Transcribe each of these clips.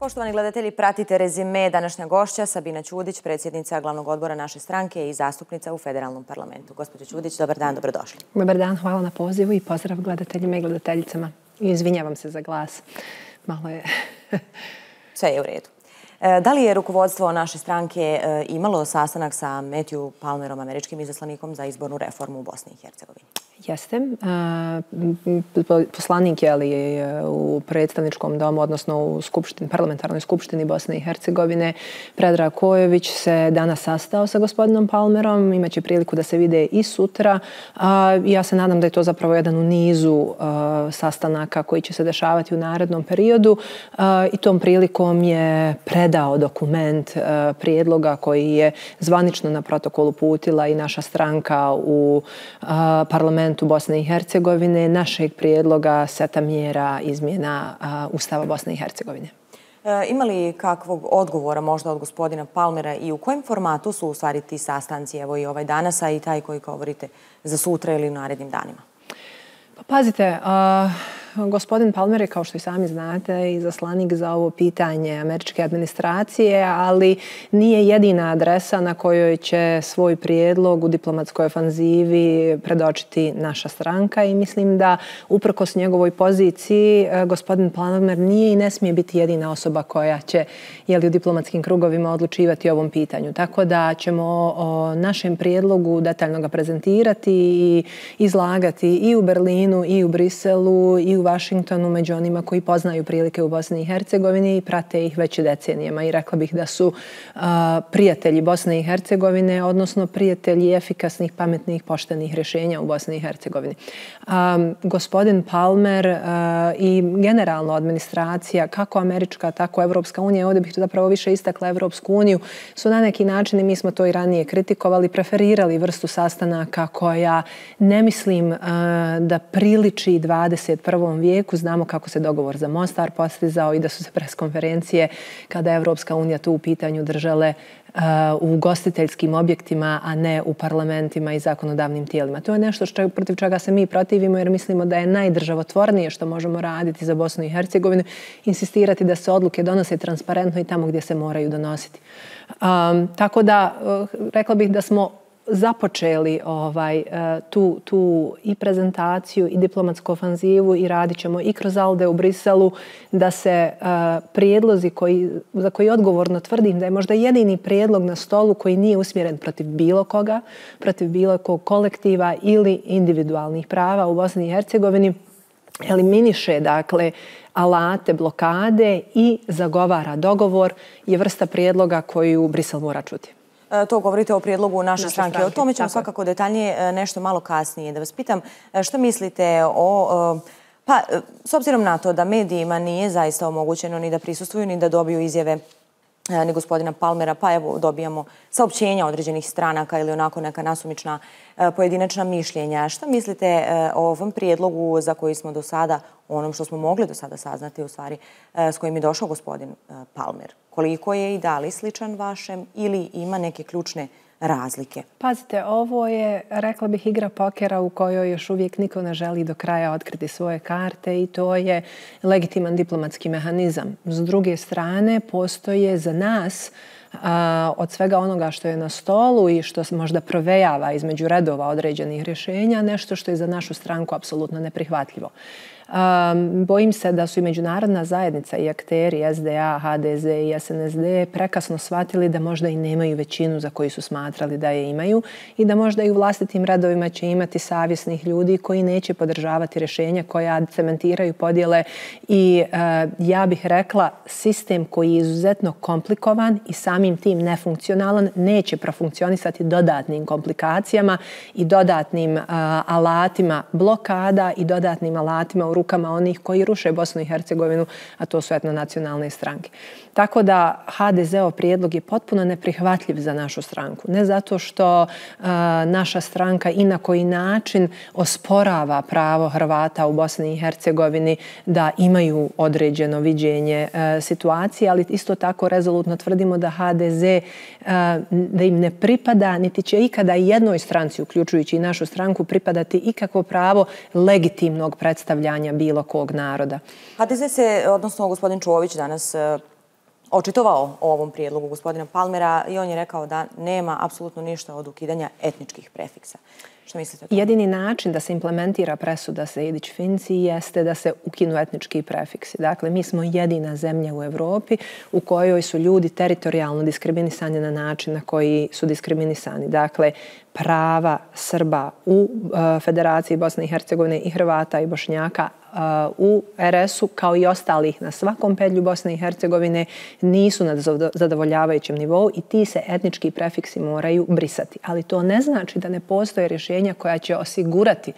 Poštovani gledatelji, pratite rezime današnja gošća Sabina Ćudić, predsjednica glavnog odbora naše stranke i zastupnica u federalnom parlamentu. Gospođo Ćudić, dobar dan, dobrodošli. Dobar dan, hvala na pozivu i pozdrav gledateljima i gledateljicama. I izvinjavam se za glas. Malo je... Sve je u redu. Da li je rukovodstvo naše stranke imalo sastanak sa Matthew Palmerom, američkim izaslanikom za izbornu reformu u Bosni i Hercegovini? Jeste. Poslanik je u predstavničkom domu, odnosno u parlamentarnoj skupštini Bosne i Hercegovine, Predrag Kojović se danas sastao sa gospodinom Palmerom. Imaće priliku da se vide i sutra. Ja se nadam da je to zapravo jedan u nizu sastanaka koji će se dešavati u narednom periodu. I tom prilikom je predao dokument prijedloga koji je zvanično na protokolu uputila i naša stranka u parlamentu Bosne i Hercegovine, našeg prijedloga seta mjera izmjena Ustava Bosne i Hercegovine. Ima li kakvog odgovora možda od gospodina Palmera i u kojem formatu su u stvari ti sastanci, evo i ovaj danas, a i taj koji govorite za sutra ili u narednim danima? Pa pazite, gospodin Palmer je, kao što i sami znate, izaslanik za ovo pitanje američke administracije, ali nije jedina adresa na kojoj će svoj prijedlog u diplomatskoj ofanzivi predočiti naša stranka i mislim da uprkos njegovoj poziciji gospodin Palmer nije i ne smije biti jedina osoba koja će u diplomatskim krugovima odlučivati o ovom pitanju. Tako da ćemo o našem prijedlogu detaljno ga prezentirati i izlagati i u Berlinu, i u Briselu, i u Washingtonu među onima koji poznaju prilike u Bosni i Hercegovini i prate ih već decenijama. I rekla bih da su prijatelji Bosne i Hercegovine, odnosno prijatelji efikasnih, pametnih, poštenih rješenja u Bosni i Hercegovini. Gospodin Palmer i generalno administracija, kako američka, tako Evropska unija, ovdje bih zapravo više istakla Evropsku uniju, su na neki način, i mi smo to i ranije kritikovali, preferirali vrstu sastanaka koja ne mislim da priliči 21. vijeku. Znamo kako se dogovor za Mostar postizao i da su se preskonferencije kada je Evropska unija tu u pitanju držale u ugostiteljskim objektima, a ne u parlamentima i zakonodavnim tijelima. To je nešto protiv čega se mi protivimo jer mislimo da je najdržavotvornije što možemo raditi za Bosnu i Hercegovinu, insistirati da se odluke donose transparentno i tamo gdje se moraju donositi. Tako da, rekla bih da smo započeli tu i prezentaciju i diplomatsku ofanzivu i radit ćemo i kroz ALDE u Briselu da se prijedlozi za koji odgovorno tvrdim da je možda jedini prijedlog na stolu koji nije usmjeren protiv bilo koga, protiv bilo kog kolektiva ili individualnih prava u Bosni i Hercegovini, eliminiše dakle alate blokade i zagovara dogovor, je vrsta prijedloga koju Brisel mora čuti. To govorite o prijedlogu naše stranke. O tome ćemo svakako detaljnije nešto malo kasnije. Da vas pitam što mislite o... Pa, s obzirom na to da medijima nije zaista omogućeno ni da prisustvuju, ni da dobiju izjave ni gospodina Palmera, pa evo dobijamo saopćenja određenih stranaka ili onako neka nasumična pojedinačna mišljenja. Šta mislite o ovom prijedlogu za koji smo do sada, onom što smo mogli do sada saznati u stvari, s kojim je došao gospodin Palmer? Koliko je i da li sličan vašem ili ima neke ključne razlike? Pazite, ovo je, rekla bih, igra pokera u kojoj još uvijek niko ne želi do kraja otkriti svoje karte i to je legitiman diplomatski mehanizam. S druge strane, postoje za nas od svega onoga što je na stolu i što možda provejava između redova određenih rješenja, nešto što je za našu stranku apsolutno neprihvatljivo. Bojim se da su i međunarodna zajednica i akteri SDA, HDZ i SNSD prekasno shvatili da možda i nemaju većinu za koju su smatrali da je imaju i da možda i u vlastitim redovima će imati savjesnih ljudi koji neće podržavati rješenja koja cementiraju podjele i ja bih rekla sistem koji je izuzetno komplikovan i samim tim nefunkcionalan neće profunkcionisati dodatnim komplikacijama i dodatnim alatima blokada i dodatnim alatima u rukama onih koji ruše Bosnu i Hercegovinu, a to su etnonacionalne stranke. Tako da HDZ-ov prijedlog je potpuno neprihvatljiv za našu stranku. Ne zato što naša stranka i na koji način osporava pravo Hrvata u Bosni i Hercegovini da imaju određeno viđenje situacije, ali isto tako rezolutno tvrdimo da HDZ da im ne pripada, niti će ikada jednoj stranci, uključujući i našu stranku, pripadati ikakvo pravo legitimnog predstavljanja bilo kog naroda. HDZ se, odnosno gospodin Čović danas očitovao o ovom prijedlogu gospodina Palmera i on je rekao da nema apsolutno ništa od ukidanja etničkih prefiksa. Što mislite o tome? Jedini način da se implementira presuda Sejdić-Finci jeste da se ukinu etnički prefiksi. Dakle, mi smo jedina zemlja u Evropi u kojoj su ljudi teritorijalno diskriminisani na način na koji su diskriminisani. Dakle, prava Srba u Federaciji Bosne i Hercegovine i Hrvata i Bošnjaka u RS-u, kao i ostalih na svakom pedlju Bosne i Hercegovine, nisu na zadovoljavajućem nivou i ti se etnički prefiksi moraju brisati. Ali to ne znači da ne postoje rješenja koja će osigurati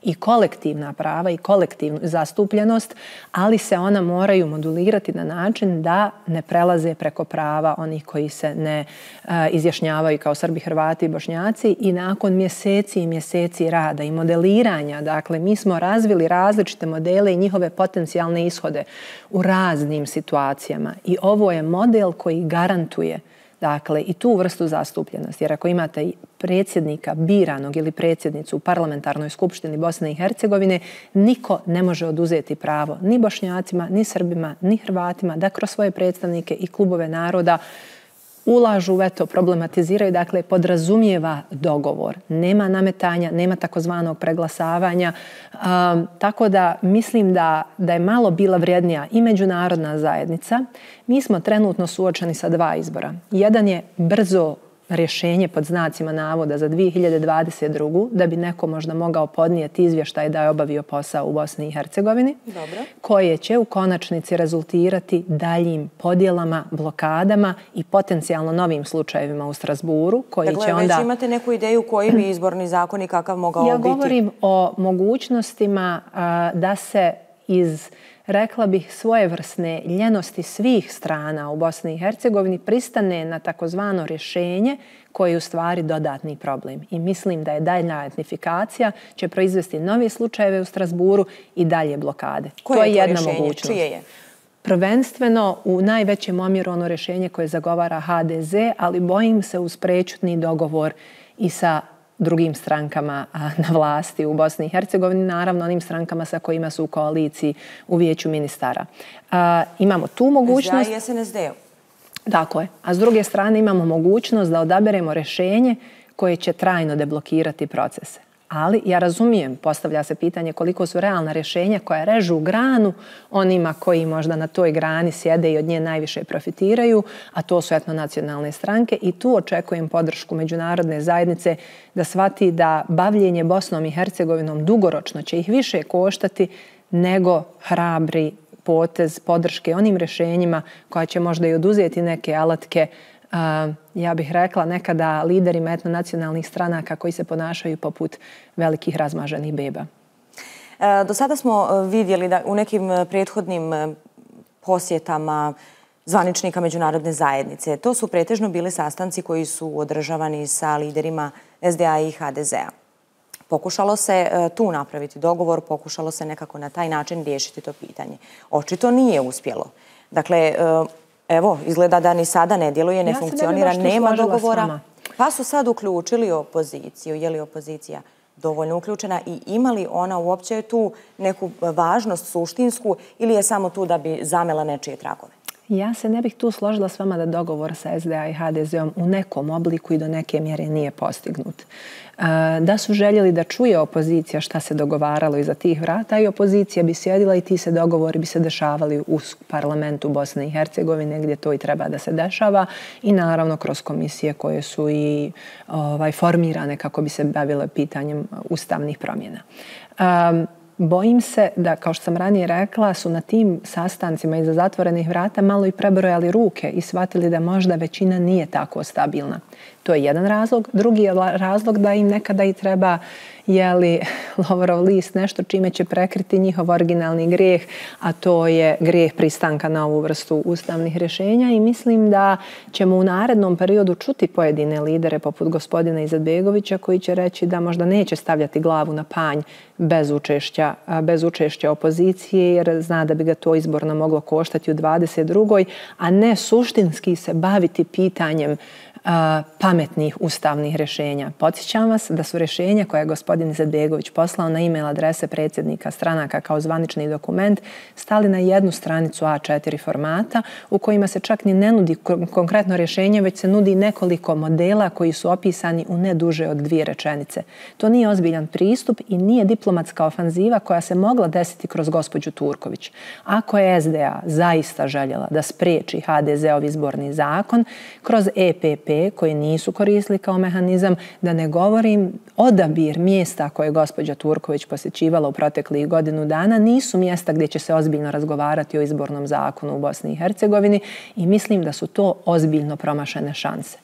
i kolektivna prava i kolektivnu zastupljenost, ali se ona moraju modulirati na način da ne prelaze preko prava onih koji se ne izjašnjavaju kao Srbi, Hrvati i Bošnjaci i nakon mjeseci i mjeseci rada i modeliranja. Dakle, mi smo razvili različite modele i njihove potencijalne ishode u raznim situacijama i ovo je model koji garantuje dakle i tu vrstu zastupljenosti. Jer ako imate predsjednika biranog ili predsjednicu u parlamentarnoj skupštini Bosne i Hercegovine, niko ne može oduzeti pravo ni Bošnjacima, ni Srbima, ni Hrvatima da kroz svoje predstavnike i klubove naroda ulažu veto, problematiziraju, dakle podrazumijeva dogovor. Nema nametanja, nema takozvanog preglasavanja. Tako da mislim da je malo bila vrijednija i međunarodna zajednica. Mi smo trenutno suočeni sa dva izbora. Jedan je brzo rješenje pod znacima navoda za 2022. da bi neko možda mogao podnijeti izvještaj da je obavio posao u Bosni i Hercegovini, koje će u konačnici rezultirati daljim podjelama, blokadama i potencijalno novim slučajevima u Strasburu, koji će onda... Dakle, već imate neku ideju koji bi izborni zakon i kakav mogao biti? Ja govorim o mogućnostima da se iz, rekla bih, svojevrsne ljenosti svih strana u Bosni i Hercegovini pristane na takozvano rješenje koje je u stvari dodatni problem. I mislim da je daljna etnifikacija će proizvesti nove slučajeve u Strasburu i dalje blokade. Koje je to rješenje? Čije je? Prvenstveno u najvećem omjeru ono rješenje koje zagovara HDZ, ali bojim se uz prečutni dogovor i sa drugim strankama na vlasti u Bosni i Hercegovini, naravno onim strankama sa kojima su u koaliciji u vijeću ministara. Imamo tu mogućnost... SDA i SNSD-u. Tako je. A s druge strane imamo mogućnost da odaberemo rješenje koje će trajno deblokirati procese. Ali ja razumijem, postavlja se pitanje koliko su realna rješenja koja režu granu onima koji možda na toj grani sjede i od nje najviše profitiraju, a to su etnonacionalne stranke i tu očekujem podršku međunarodne zajednice da shvati da bavljenje Bosnom i Hercegovinom dugoročno će ih više koštati nego hrabri potez podrške onim rješenjima koja će možda i oduzeti neke alatke, ja bih rekla nekada liderima etnonacionalnih stranaka koji se ponašaju poput velikih razmaženih beba. Do sada smo vidjeli da u nekim prethodnim posjetama zvaničnika međunarodne zajednice, to su pretežno bili sastanci koji su održavani sa liderima SDA i HDZ-a. Pokušalo se tu napraviti dogovor, pokušalo se nekako na taj način riješiti to pitanje. Očito nije uspjelo. Dakle, evo, izgleda da ni sada ne djeluje, ne funkcionira, nema dogovora. Pa su sad uključili opoziciju. Je li opozicija dovoljno uključena i ima li ona uopće tu neku važnost suštinsku ili je samo tu da bi zamela nečije tragove? Ja se ne bih tu složila s vama da dogovor sa SDA i HDZ-om u nekom obliku i do neke mjere nije postignut. Da su željeli da čuje opozicija šta se dogovaralo iza tih vrata i opozicija bi sjedila i ti se dogovori bi se dešavali u parlamentu Bosne i Hercegovine gdje to i treba da se dešava i naravno kroz komisije koje su i formirane kako bi se bavile pitanjem ustavnih promjena. Bojim se da, kao što sam ranije rekla, su na tim sastancima iza zatvorenih vrata malo i prebrojali ruke i shvatili da možda većina nije tako stabilna. To je jedan razlog. Drugi je razlog da im nekada i treba lovorov list, nešto čime će prekriti njihov originalni grijeh, a to je grijeh pristanka na ovu vrstu ustavnih rješenja i mislim da ćemo u narednom periodu čuti pojedine lidere poput gospodina Izetbegovića koji će reći da možda neće stavljati glavu na panj bez učešća opozicije jer zna da bi ga to izborno moglo koštati u 22. a ne suštinski se baviti pitanjem pametnih ustavnih rješenja. Podsjećam vas da su rješenja koje je gospodin Izetbegović poslao na e-mail adrese predsjednika stranaka kao zvanični dokument stali na jednu stranicu A4 formata u kojima se čak ni ne nudi konkretno rješenje, već se nudi nekoliko modela koji su opisani u ne duže od 2 rečenice. To nije ozbiljan pristup i nije diplomatska ofanziva koja se mogla desiti kroz gospođu Turković. Ako je SDA zaista željela da spriječi HDZ-ov izborni zakon kroz EPP koji nisu koristili kao mehanizam, da ne govorim odabir mjesta koje je gospođa Turković posjećivala u proteklih godinu dana, nisu mjesta gdje će se ozbiljno razgovarati o izbornom zakonu u Bosni i Hercegovini i mislim da su to ozbiljno promašene šanse.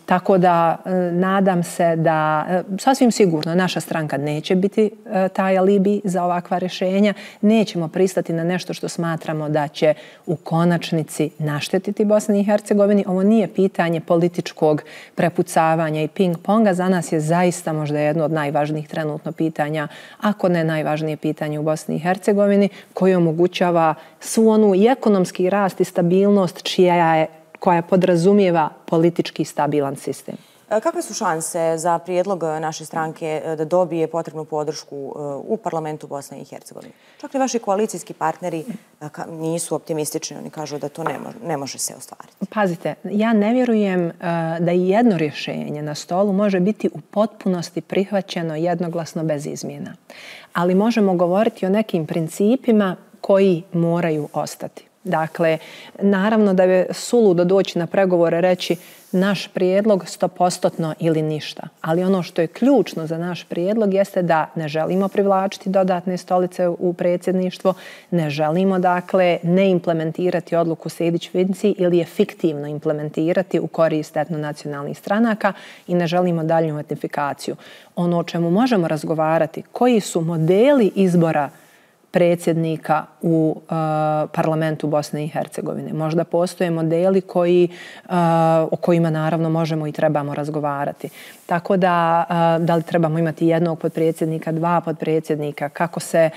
Tako da nadam se da sasvim sigurno naša stranka neće biti taj alibi za ovakva rješenja. Nećemo pristati na nešto što smatramo da će u konačnici naštetiti Bosni i Hercegovini. Ovo nije pitanje političkog prepucavanja i ping-ponga. Za nas je zaista možda jedno od najvažnijih trenutno pitanja, ako ne najvažnije pitanje u Bosni i Hercegovini, koje omogućava svu onu i ekonomski rast i stabilnost koja podrazumijeva politički stabilan sistem. Kakve su šanse za prijedlog naše stranke da dobije potrebnu podršku u parlamentu Bosne i Hercegovine? Čak i vaši koalicijski partneri nisu optimistični, oni kažu da to ne može se ostvariti. Pazite, ja ne vjerujem da i jedno rješenje na stolu može biti u potpunosti prihvaćeno jednoglasno bez izmjena. Ali možemo govoriti o nekim principima koji moraju ostati. Dakle, naravno da je suludo doći na pregovore reći naš prijedlog 100% ili ništa. Ali ono što je ključno za naš prijedlog jeste da ne želimo privlačiti dodatne stolice u predsjedništvo, ne želimo dakle ne implementirati odluku Sejdić-Finci ili je fiktivno implementirati u korist etnonacionalnih stranaka i ne želimo daljnju etnifikaciju. Ono o čemu možemo razgovarati, koji su modeli izbora predsjednika u parlamentu Bosne i Hercegovine. Možda postoje modeli o kojima naravno možemo i trebamo razgovarati. Tako da li trebamo imati jednog potpredsjednika, 2 potpredsjednika, kako se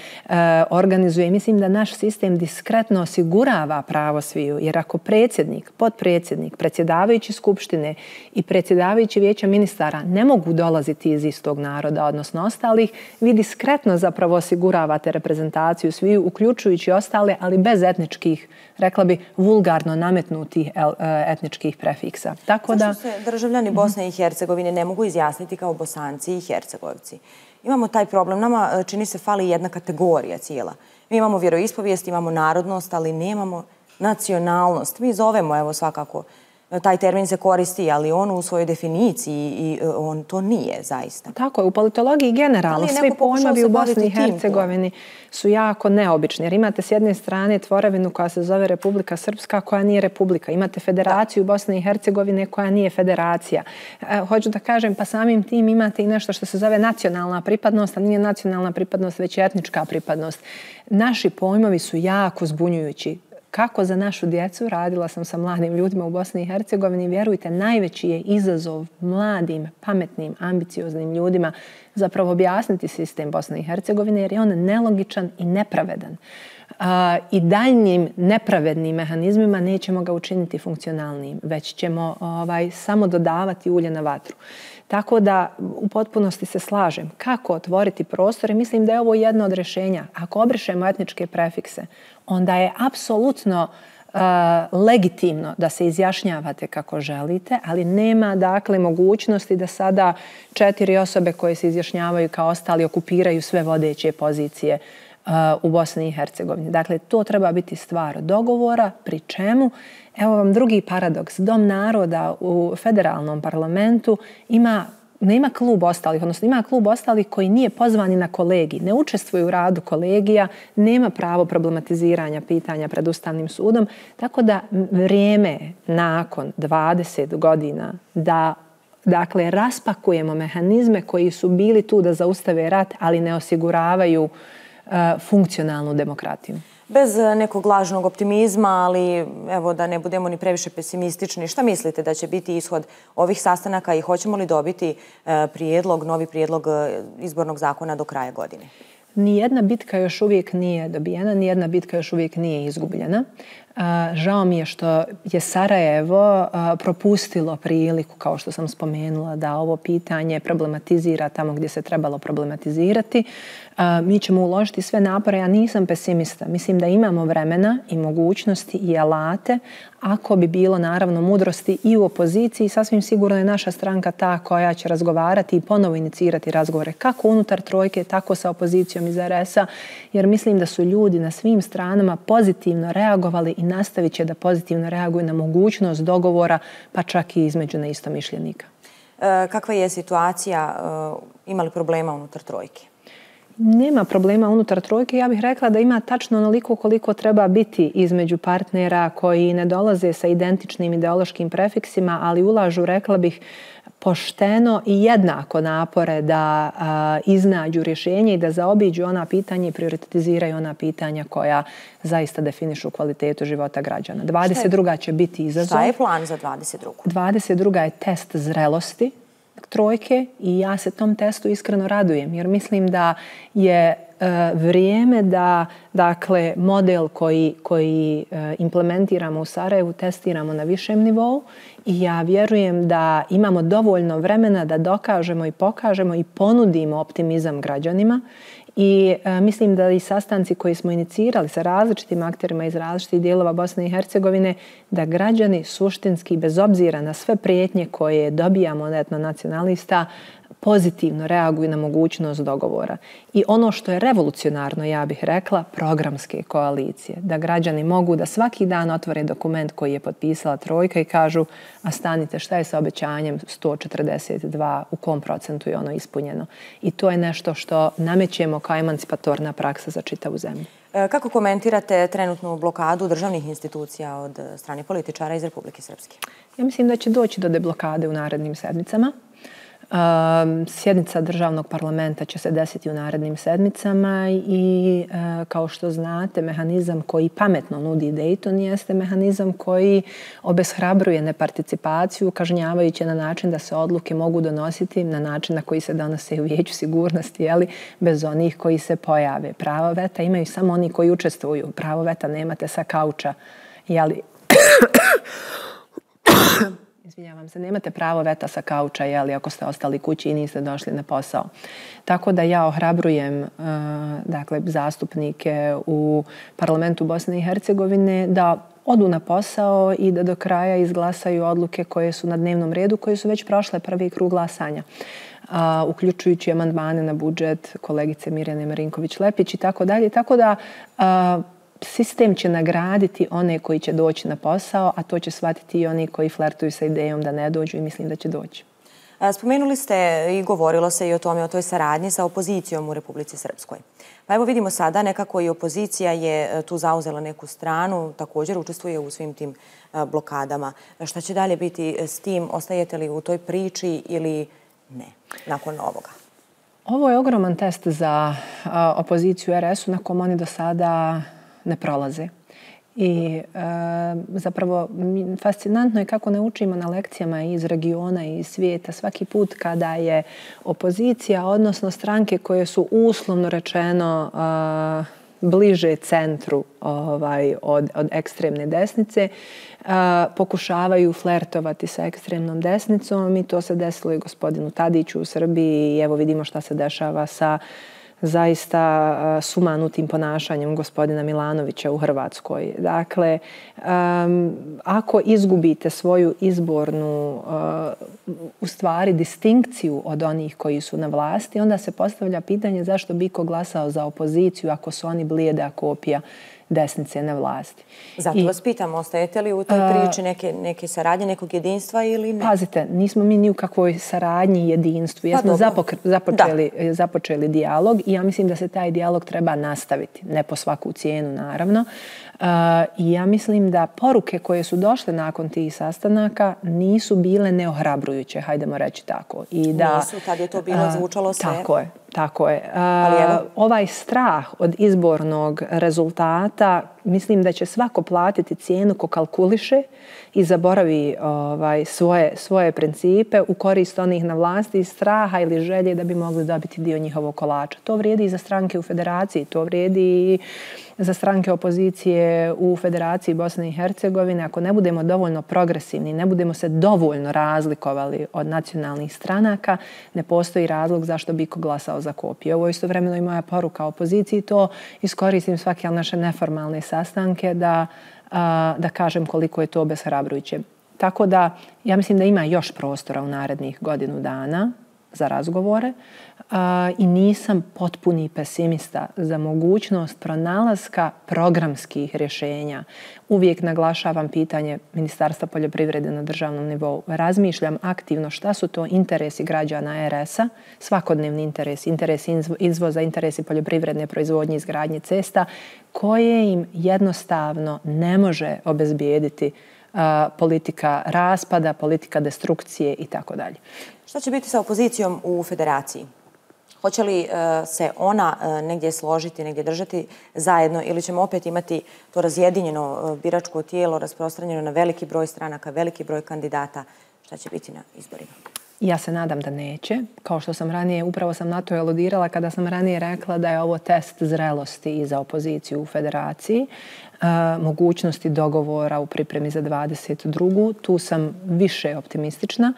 organizuje. Mislim da naš sistem diskretno osigurava pravo sviju, jer ako predsjednik, potpredsjednik, predsjedavajući skupštine i predsjedavajući vijeća ministara ne mogu dolaziti iz istog naroda, odnosno ostalih, vi diskretno zapravo osiguravate reprezentaciju sviju, uključujući ostale, ali bez etničkih, rekla bi, vulgarno nametnutih etničkih prefiksa. Zašto se državljani Bosne i Hercegovine ne mogu izjasniti kao Bosanci i Hercegovci? Imamo taj problem. Nama čini se fali jedna kategorija cijela. Mi imamo vjeroispovijest, imamo narodnost, ali nemamo nacionalnost. Mi zovemo, evo svakako, taj termin se koristi, ali on u svojoj definiciji i on to nije zaista. Tako je, u politologiji generalno svi pojmovi u Bosni i Hercegovini su jako neobični. Jer imate s jedne strane tvorevinu koja se zove Republika Srpska koja nije republika. Imate federaciju Bosne i Hercegovine koja nije federacija. Hoću da kažem, pa samim tim imate i nešto što se zove nacionalna pripadnost, a nije nacionalna pripadnost, već etnička pripadnost. Naši pojmovi su jako zbunjujući. Kako za našu djecu, radila sam sa mladim ljudima u Bosni i Hercegovini, vjerujte, najveći je izazov mladim, pametnim, ambicioznim ljudima zapravo objasniti sistem Bosne i Hercegovine jer je on nelogičan i nepravedan. I daljnjim nepravednim mehanizmima nećemo ga učiniti funkcionalnim, već ćemo samo dodavati ulje na vatru. Tako da u potpunosti se slažem. Kako otvoriti prostor? I mislim da je ovo jedno od rješenja. Ako obrišemo etničke prefikse, onda je apsolutno legitimno da se izjašnjavate kako želite, ali nema dakle mogućnosti da sada 4 osobe koje se izjašnjavaju kao ostali okupiraju sve vodeće pozicije u Bosni i Hercegovini. Dakle, to treba biti stvar dogovora, pri čemu, evo vam drugi paradoks, Dom naroda u federalnom parlamentu nema klub ostalih, odnosno ima klub ostalih koji nije pozvani na kolegij, ne učestvuje u radu kolegija, nema pravo problematiziranja pitanja pred Ustavnim sudom, tako da vrijeme nakon 20 godina da dakle raspakujemo mehanizme koji su bili tu da zaustave rat, ali ne osiguravaju funkcionalnu demokratiju. Bez nekog lažnog optimizma, ali evo da ne budemo ni previše pesimistični, šta mislite da će biti ishod ovih sastanaka i hoćemo li dobiti novi prijedlog izbornog zakona do kraja godine? Nijedna bitka još uvijek nije dobijena, nijedna bitka još uvijek nije izgubljena. Žao mi je što je Sarajevo propustilo priliku, kao što sam spomenula, da ovo pitanje problematizira tamo gdje se trebalo problematizirati. Mi ćemo uložiti sve napore, ja nisam pesimista. Mislim da imamo vremena i mogućnosti i alate, ako bi bilo naravno mudrosti i u opoziciji. Sasvim sigurno je naša stranka ta koja će razgovarati i ponovo inicirati razgovore kako unutar trojke, tako sa opozicijom iz RS-a, jer mislim da su ljudi na svim stranama pozitivno reagovali i nastavit će da pozitivno reaguju na mogućnost dogovora, pa čak i između neistomišljenika. Kakva je situacija? Ima li problema unutar trojke? Nema problema unutar trojke. Ja bih rekla da ima tačno onoliko koliko treba biti između partnera koji ne dolaze sa identičnim ideološkim prefiksima, ali ulažu, rekla bih, pošteno i jednako napore da iznađu rješenje i da zaobiđu ona pitanja i prioritiziraju ona pitanja koja zaista definišu kvalitetu života građana. 22. će biti izazov. Šta je plan za 22. 22. je test zrelosti trojke i ja se tom testu iskreno radujem, jer mislim da je vrijeme da, dakle, model koji implementiramo u Sarajevu testiramo na višem nivou i ja vjerujem da imamo dovoljno vremena da dokažemo i pokažemo i ponudimo optimizam građanima. I mislim da i sastanci koji smo inicirali sa različitim akterima iz različitih dijelova Bosne i Hercegovine, da građani suštinski, bez obzira na sve prijetnje koje dobijamo od etnonacionalista, pozitivno reaguju na mogućnost dogovora. I ono što je revolucionarno, ja bih rekla, programske koalicije. Da građani mogu da svaki dan otvore dokument koji je potpisala trojka i kažu, a stanite, šta je sa obećanjem 142, u kom procentu je ono ispunjeno. I to je nešto što namećemo kao emancipatorna praksa za čitavu zemlju. Kako komentirate trenutnu blokadu državnih institucija od strane političara iz Republike Srpske? Ja mislim da će doći do deblokade u narednim sedmicama. Sjednica državnog parlamenta će se desiti u narednim sedmicama i kao što znate, mehanizam koji pametno nudi Dayton jeste mehanizam koji obeshrabruje neparticipaciju, kažnjavajući na način da se odluke mogu donositi na način na koji se donose u Vijeću sigurnosti, bez onih koji se pojave. Pravo veta imaju samo oni koji učestvuju. Pravo veta nemate sa kauča. Izvinjavam se, nemate pravo veta sa kauča, ako ste ostali kući i niste došli na posao. Tako da ja ohrabrujem zastupnike u parlamentu Bosne i Hercegovine da odu na posao i da do kraja izglasaju odluke koje su na dnevnom redu, koje su već prošle prvi krug glasanja, uključujući amandmane na budžet kolegice Mirjane Marinković-Lepić i tako dalje. Tako da sistem će nagraditi one koji će doći na posao, a to će shvatiti i oni koji flertuju sa idejom da ne dođu i mislim da će doći. Spomenuli ste i govorilo se i o tome, o toj saradnji sa opozicijom u Republici Srpskoj. Pa evo vidimo sada nekako i opozicija je tu zauzela neku stranu, također učestvuje u svim tim blokadama. Šta će dalje biti s tim? Ostajete li u toj priči ili ne nakon ovoga? Ovo je ogroman test za opoziciju RS-u na kom oni do sada ne prolaze. I zapravo fascinantno je kako ne učimo na lekcijama iz regiona i iz svijeta. Svaki put kada je opozicija, odnosno stranke koje su uslovno rečeno bliže centru od ekstremne desnice, pokušavaju flertovati sa ekstremnom desnicom i to se desilo i gospodinu Tadiću u Srbiji i evo vidimo šta se dešava sa zaista sumanutim ponašanjem gospodina Milanovića u Hrvatskoj. Dakle, ako izgubite svoju izbornu, u stvari, distinkciju od onih koji su na vlasti, onda se postavlja pitanje zašto bi ko glasao za opoziciju ako su oni blijeda kopija desnice na vlasti. Zato vas pitam, ostajete li u toj priči neke saradnje, nekog jedinstva ili ne? Pazite, nismo mi ni u kakvoj saradnji i jedinstvu. Jesmo započeli dijalog i ja mislim da se taj dijalog treba nastaviti. Ne po svaku cijenu, naravno. I ja mislim da poruke koje su došle nakon tih sastanaka nisu bile neohrabrujuće, hajdemo reći tako. Nisu, tad je to bilo, zvučalo sve. Tako je. Ovaj strah od izbornog rezultata, mislim da će svako platiti cijenu ko kalkuliše i zaboravi svoje principe u korist onih na vlasti iz straha ili želje da bi mogli dobiti dio njihovog kolača. To vrijedi i za stranke u federaciji, to vrijedi i za stranke opozicije u Federaciji Bosne i Hercegovine. Ako ne budemo dovoljno progresivni, ne budemo se dovoljno razlikovali od nacionalnih stranaka, ne postoji razlog zašto bi iko glasao za kopiju. Ovo je istovremeno i moja poruka opoziciji. To iskoristim svake naše neformalne sastanke da kažem koliko je to obeshrabrujuće. Tako da ja mislim da ima još prostora u narednih godinu dana za razgovore i nisam potpuni pesimista za mogućnost pronalaska programskih rješenja. Uvijek naglašavam pitanje Ministarstva poljoprivrede na državnom nivou. Razmišljam aktivno šta su to interesi građana RS-a, svakodnevni interesi izvoza, interesi poljoprivredne proizvodnje, izgradnje cesta, koje im jednostavno ne može obezbijediti politika raspada, politika destrukcije i tako dalje. Šta će biti sa opozicijom u federaciji? Hoće li se ona negdje složiti, negdje držati zajedno ili ćemo opet imati to razjedinjeno biračko tijelo rasprostranjeno na veliki broj stranaka, veliki broj kandidata? Šta će biti na izborima? Ja se nadam da neće. Kao što sam ranije, upravo sam na to aludirala kada sam ranije rekla da je ovo test zrelosti i za opoziciju u federaciji, mogućnosti dogovora u pripremi za 22. Tu sam više optimistična.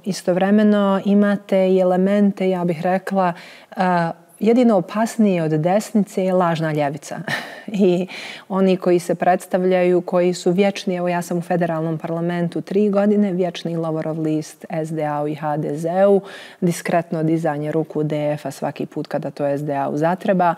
Istovremeno imate i elemente, ja bih rekla, jedino opasnije od desnice je lažna ljevica. I oni koji se predstavljaju, koji su vječni, evo ja sam u federalnom parlamentu 3 godine, vječni Lovorov list SDA-u i HDZ-u, diskretno dizanje ruku DF-a svaki put kada to SDA-u zatreba,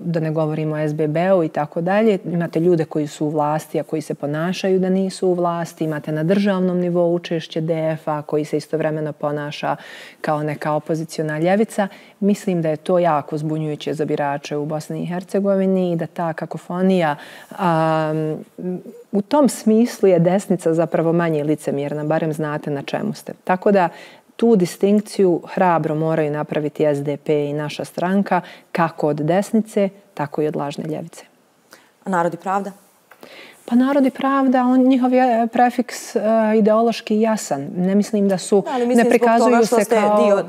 da ne govorimo o SBB-u i tako dalje. Imate ljude koji su u vlasti, a koji se ponašaju da nisu u vlasti. Imate na državnom nivou učešće DF-a koji se istovremeno ponaša kao neka opoziciona ljevica. Mislim da je to jako zbunjujuće za birače u Bosni i Hercegovini i da ta kakofonija u tom smislu je desnica zapravo manje licemjerna, barem znate na čemu ste. Tako da tu distinkciju hrabro moraju napraviti SDP i naša stranka, kako od desnice, tako i od lažne ljevice. A Narod i pravda? Pa Narod i pravda, njihov je prefiks ideološki jasan. Ne mislim da su, ne prikazuju se kao...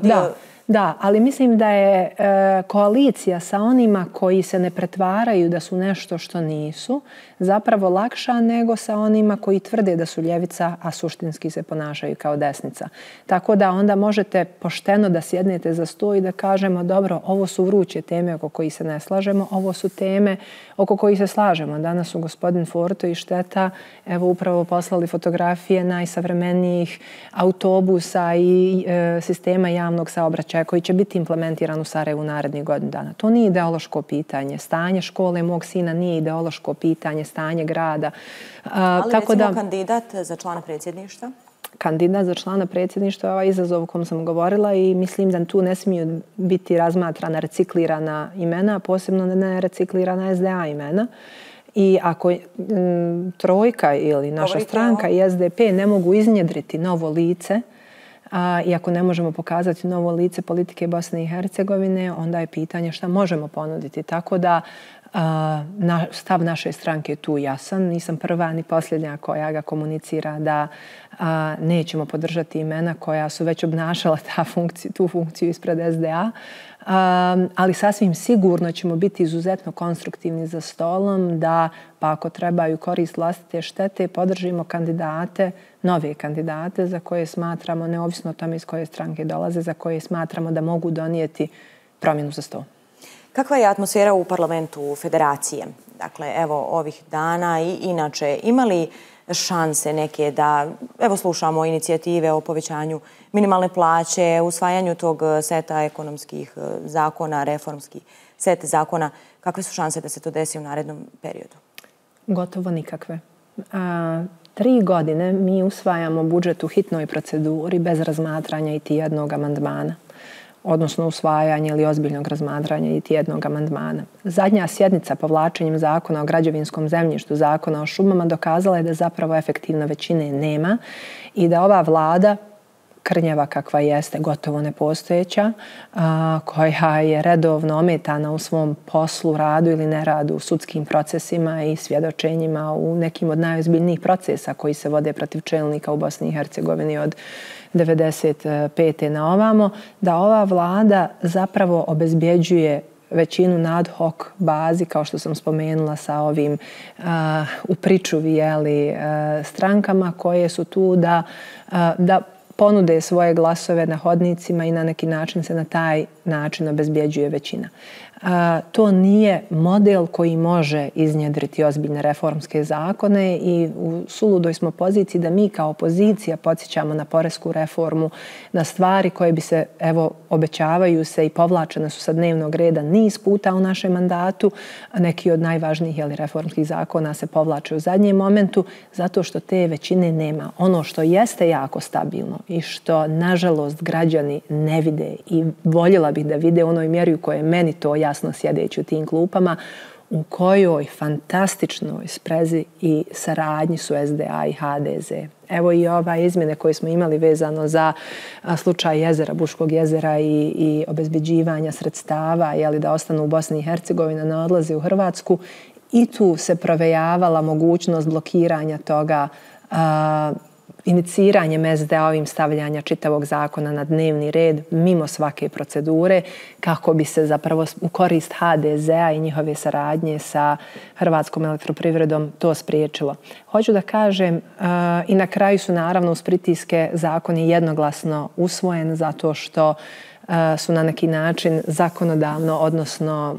Da, ali mislim da je koalicija sa onima koji se ne pretvaraju da su nešto što nisu zapravo lakša nego sa onima koji tvrde da su ljevica, a suštinski se ponašaju kao desnica. Tako da onda možete pošteno da sjednete za sto i da kažemo dobro, ovo su vruće teme oko kojih se ne slažemo, ovo su teme oko kojih se slažemo. Danas su gospodin Forto i Šteta evo upravo poslali fotografije najsavremenijih autobusa i sistema javnog saobraćaja koji će biti implementiran u Sarajevu narednih godinu dana. To nije ideološko pitanje. Stanje škole mog sina nije ideološko pitanje, stanje grada. Ali recimo kandidat za člana predsjedništva? Kandidat za člana predsjedništva je ovaj izazov o kom sam govorila i mislim da tu ne smiju biti razmatrana reciklirana imena, posebno ne reciklirana SDA imena. I ako trojka ili naša stranka i SDP ne mogu iznjedriti novo lice, i ako ne možemo pokazati novo lice politike Bosne i Hercegovine, onda je pitanje šta možemo ponuditi. Tako da stav naše stranke je tu jasan. Nisam prva ni posljednja koja ga komunicira da nećemo podržati imena koja su već obnašala tu funkciju ispred SDA. Ali sasvim sigurno ćemo biti izuzetno konstruktivni za stolom da, pa ako trebaju korist vlastite štete, podržimo kandidate, nove kandidate za koje smatramo, neovisno o tome iz koje stranke dolaze, za koje smatramo da mogu donijeti promjenu za stol. Kakva je atmosfera u parlamentu Federacije? Dakle, evo ovih dana i inače, ima li šanse neke da, evo slušamo inicijative o povećanju minimalne plaće, usvajanju tog seta ekonomskih zakona, reformski set zakona. Kakve su šanse da se to desi u narednom periodu? Gotovo nikakve. 3 godine mi usvajamo budžet u hitnoj proceduri bez razmatranja iti jednog amandmana, odnosno usvajanja ili ozbiljnog razmatranja iti jednog amandmana. Zadnja sjednica povlačenjem zakona o građevinskom zemljištu, zakona o šumama dokazala je da zapravo efektivne većine nema i da ova vlada krnjava kakva jeste, gotovo nepostojeća, koja je redovno ometana u svom poslu, radu ili neradu u sudskim procesima i svjedočenjima u nekim od najozbiljnijih procesa koji se vode protiv čelnika u Bosni i Hercegovini od 1995. na ovamo, da ova vlada zapravo obezbjeđuje većinu na ad hoc bazi, kao što sam spomenula, sa ovim u pričuvi strankama koje su tu da ponude svoje glasove na hodnicima i na neki način se na taj način obezbjeđuje većina. To nije model koji može iznjedriti ozbiljne reformske zakone i u suludoj smo poziciji da mi kao opozicija podsjećamo na poresku reformu, na stvari koje bi se, evo, obećavaju se i povlačene su sa dnevnog reda niz puta u našem mandatu. Neki od najvažnijih reformskih zakona se povlače u zadnjem momentu zato što te većine nema. Ono što jeste jako stabilno i što, nažalost, građani ne vide i voljela bih da vide u onoj mjeri u kojoj je meni to jasno sjedeći u tim klupama, u kojoj fantastičnoj sprezi i saradnji su SDA i HDZ. Evo i ove izmjene koje smo imali vezano za slučaj jezera, Buškog jezera i obezbeđivanja sredstava, da ostanu u Bosni i Hercegovini, ne odlaze u Hrvatsku. I tu se provejavala mogućnost blokiranja toga iniciranjem SDA-ovim stavljanja čitavog zakona na dnevni red mimo svake procedure kako bi se zapravo u korist HDZ-a i njihove saradnje sa Hrvatskom elektroprivredom to spriječilo. Hoću da kažem i na kraju su naravno uz pritiske zakoni jednoglasno usvojen zato što su na neki način zakonodavno, odnosno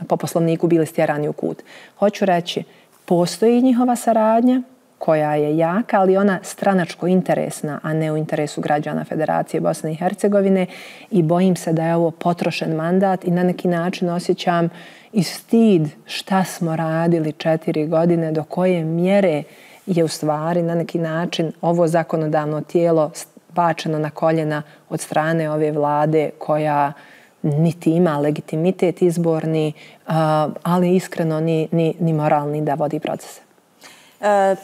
po poslovniku bili stjerani u kut. Hoću reći, postoji njihova saradnja koja je jaka, ali ona stranačko interesna, a ne u interesu građana Federacije Bosne i Hercegovine i bojim se da je ovo potrošen mandat i na neki način osjećam i stid šta smo radili 4 godine, do koje mjere je u stvari na neki način ovo zakonodavno tijelo bačeno na koljena od strane ove vlade koja niti ima legitimitet izborni, ali iskreno ni moralni da vodi procese.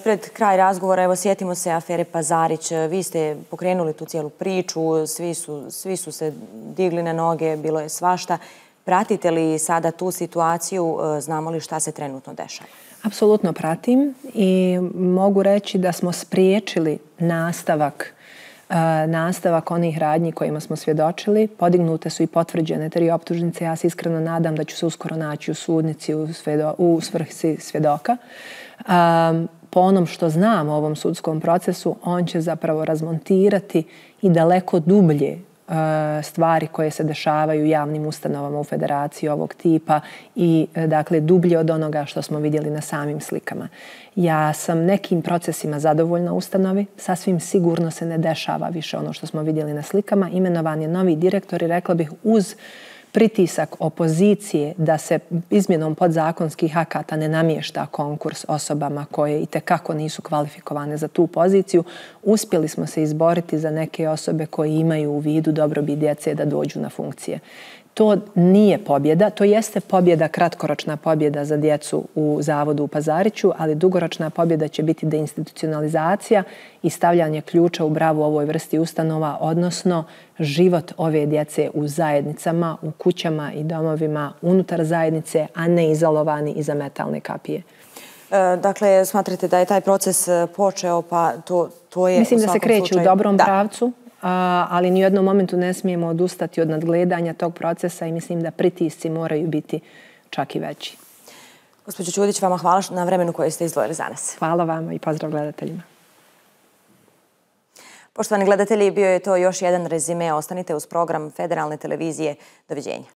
Pred kraj razgovora, evo, sjetimo se afere Pazarić. Vi ste pokrenuli tu cijelu priču, svi su se digli na noge, bilo je svašta. Pratite li sada tu situaciju? Znamo li šta se trenutno dešava? Apsolutno pratim i mogu reći da smo spriječili nastavak onih radnji kojima smo svjedočili. Podignute su i potvrđene 3 optužnice. Ja se iskreno nadam da ću se uskoro naći u sudnici u svrsi svjedoka. Po onom što znam o ovom sudskom procesu, on će zapravo razmontirati i daleko dublje stvari koje se dešavaju u javnim ustanovama u Federaciji ovog tipa i dakle dublje od onoga što smo vidjeli na samim slikama. Ja sam nekim procesima zadovoljna ustanovi, sasvim sigurno se ne dešava više ono što smo vidjeli na slikama. Imenovan je novi direktor i rekla bih uz pritisak opozicije da se izmjenom podzakonskih akata ne namješta konkurs osobama koje itekako nisu kvalifikovane za tu poziciju, uspjeli smo se izboriti za neke osobe koje imaju u vidu dobrobit djece da dođu na funkcije. To nije pobjeda, to jeste pobjeda, kratkoročna pobjeda za djecu u Zavodu u Pazariću, ali dugoročna pobjeda će biti deinstitucionalizacija i stavljanje ključa u bravu ovoj vrsti ustanova, odnosno život ove djece u zajednicama, u kućama i domovima unutar zajednice, a ne izolovani iza metalne kapije. Dakle, smatrate da je taj proces počeo, pa to je... Mislim da se kreće u dobrom pravcu, ali ni u jednom momentu ne smijemo odustati od nadgledanja tog procesa i mislim da pritisci moraju biti čak i veći. Gospođo Ćudić, vama hvala na vremenu koje ste izdvojili za nas. Hvala vama i pozdrav gledateljima. Poštovani gledatelji, bio je to još jedan rezime. Ostanite uz program Federalne televizije. Doviđenja.